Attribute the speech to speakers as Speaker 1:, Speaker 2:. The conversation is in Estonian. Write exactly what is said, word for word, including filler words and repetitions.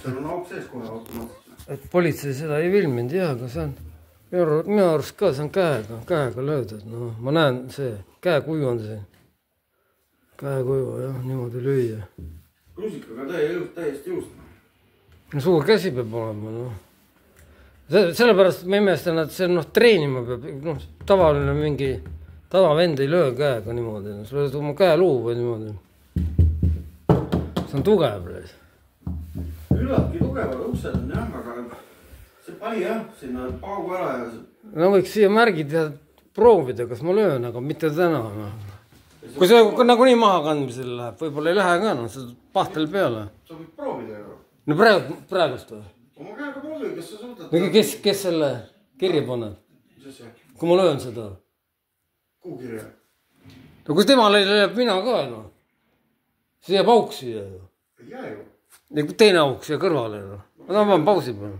Speaker 1: seal on auk sees kohe automaatselt.
Speaker 2: Et politsei seda ei filminud, jah, aga see on minu arust ka, see on käega, käega löödud. No, ma näen see, käekuju on see. Käekuju, jah, niimoodi lüüa.
Speaker 1: Rusikaga täie jõust, täiesti jõust.
Speaker 2: No suur käsi peab olema, noh. Sellepärast ma imestan, et see noh, treenima peab, noh, tavaline mingi tavavend ei löö käega niimoodi. Sa lööd oma käeluu või niimoodi. See on tugev.
Speaker 1: Üllatki tugevad uksed on jah, aga see pani jah, sinna paugu ära ja...
Speaker 2: No võiks siia märgid ja proovida, kas ma löön, aga mitte täna. No. Kui see nagu nii maha kandmisel läheb, võib-olla ei lähe ka, no, see pahtel peale.
Speaker 1: Sa võid proovida ju.
Speaker 2: No praegu, praegust või?
Speaker 1: Oma käega proovi, kes sa suudad...
Speaker 2: No, kes, kes selle kirja paneb?
Speaker 1: Mis see?
Speaker 2: Kui ma löön seda?
Speaker 1: Kuhu kirja?
Speaker 2: No kus tema lööb mina ka, no. See jääb auk siia ju.
Speaker 1: Ei jää ju.
Speaker 2: Ja teine auk siia kõrvale. Ma tahan pausi peale.